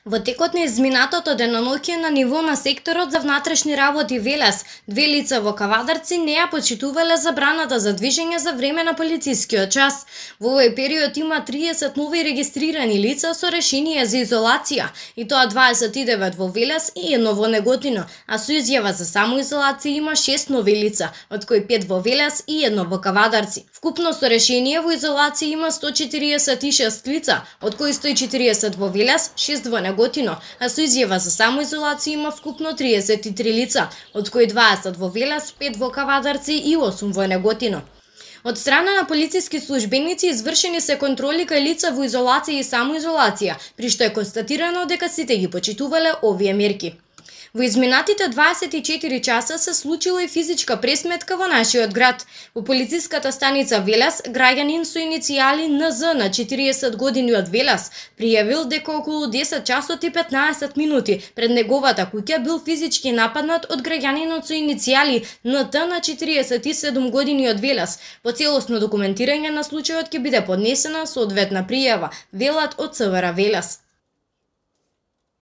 Во текот на изминатото деноноќе на ниво на секторот за внатрешни работи Велес, две лица во Кавадарци не ја почитувале забраната за движење за време на полицискиот час. Во овој период има 30 нови регистрирани лица со решение за изолација, и тоа 29 во Велес и 1 во Неготино, а со изјава за самоизолација има 6 нови лица, од кои 5 во Велес и 1 во Кавадарци. Вкупно со решение во изолација има 146 лица, од кои 140 во Велес, 6 во Неготино, а со изјава за самоизолација има вкупно 33 лица, од кои 20 во Велес, 5 во Кавадарци и 8 во Неготино. Од страна на полициски службеници извршени се контроли кај лица во изолација и самоизолација, при што е констатирано дека сите ги почитувале овие мерки. Во изминатите 24 часа се случила и физичка пресметка во нашиот град. Во полициската станица Велес, граѓанин со иницијали НЗ на 40 години од Велес пријавил дека околу 10 часот и 15 минути пред неговата куќа бил физички нападнат од граѓанинот со иницијали НТ на 47 години од Велес. По целосно документирање на случајот ќе биде поднесена соодветна пријава, велат од ЦВР Велес.